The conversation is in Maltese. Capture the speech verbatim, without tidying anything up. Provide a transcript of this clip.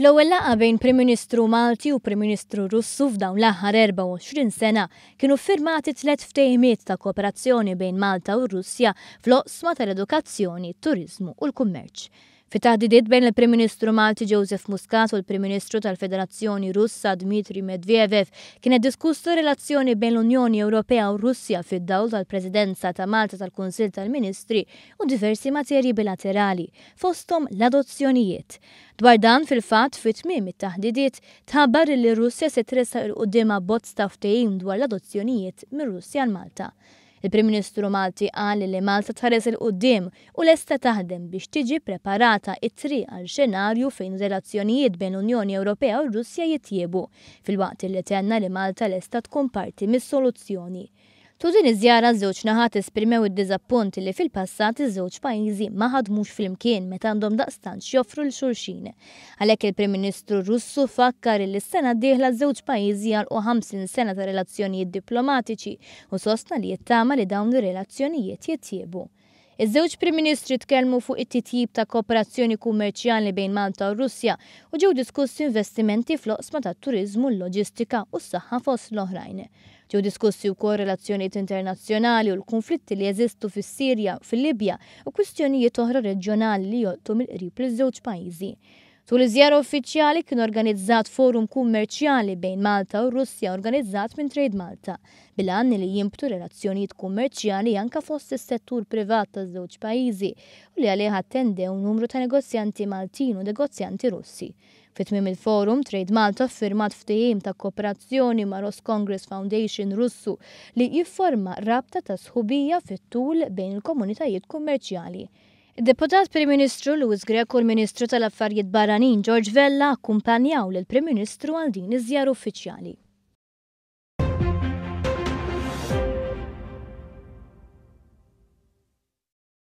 Fl-ewwel laqgħa bejn Prim Ministru Malti u Prim Ministru Russu f'dawn l-aħħar erbgħa u għoxrin sena kienu firmati tliet ftehimiet ta' kooperazzjoni bejn Malta u Russja fl-oqsma tal-edukazzjoni, turiżmu u l-kummerċ. Fi taħdidiet bejn il-Prim Ministru Malti Joseph Muscat u l-Prim Ministru tal-Federazzjoni Russa Dmitri Medvedev kienet diskussa relazzjoni bejn l-Unjoni Ewropea u Russja fid-dawl tal-Presidenza ta' Malta tal-Kunsill tal-Ministri u diversi materji bilaterali, fosthom l-adozzjonijiet. Dwar dan, fil-fatt, fi tmiem it-taħdidiet tħabbar li Russja se tressaq 'il quddiem abbozz ta' ftehim dwar l-adozzjonijiet mir-Russja għal Malta. Il-Prim Ministru Malti qal li Malta tħares 'il quddiem u lesta taħdem biex tiġi preparata it-triq għal xenarju fejn relazzjonijiet bejn l-Unjoni Ewropea u Russja jitjiebu, filwaqt li tenna li Malta lesta tkun parti mis-soluzzjoni. Tul din iż-żjara, żewġ naħat esprimew id-diżappunt li fil-passat iż-żewġ pajjiżi ma ħadmux flimkien meta għandhom daqstant joffru lil xulxin. Għalhekk il-Prim Ministru Russu fakkar li s-sena d-dieħla żewġ pajjiżi għalqu ħamsin sena ta' relazzjonijiet diplomatiċi u sostna li jittama li dawn ir-relazzjonijiet jitjiebu. Iż-żewġ Prim Ministri tkellmu fuq it-titjib ta' kooperazzjoni kummerċjali bejn Malta u Russja u ġew diskussi investimenti fl-oqsma tat-turiżmu, l-loġistika u s-saħħa, fost l-oħrajn. Ġew diskussi wkoll relazzjonijiet internazzjonali u l-konflitti li jeżistu fis-Sirja, fil-Libja u kwistjonijiet oħra reġjonali li jolqtu mill-qrib liż-żewġ pajjiżi. Tul iż-żjara uffiċjali kien organizzat forum kummerċjali bejn Malta u Russja organizzat minn Trade Malta bil-għan li jinbtu relazzjonijiet kummerċjali anka fost is-settur privat taż-żewġ pajjiżi u li għalih attendew numru ta' negozjanti Maltin u negozjanti Russi. Fi tmiem il-forum, Trade Malta firmat ftehim ta' kooperazzjoni ma' Roscongress Foundation Russu li jifforma rabta ta' sħubija fit-tul bejn il-komunitajiet kummerċjali. Id-Deputat Prim Ministru Louis Grech u l-Ministru tal-Affarijiet Barranin George Vella akkumpanjaw lill-Prim Ministru għal din iż-żjara uffiċjali.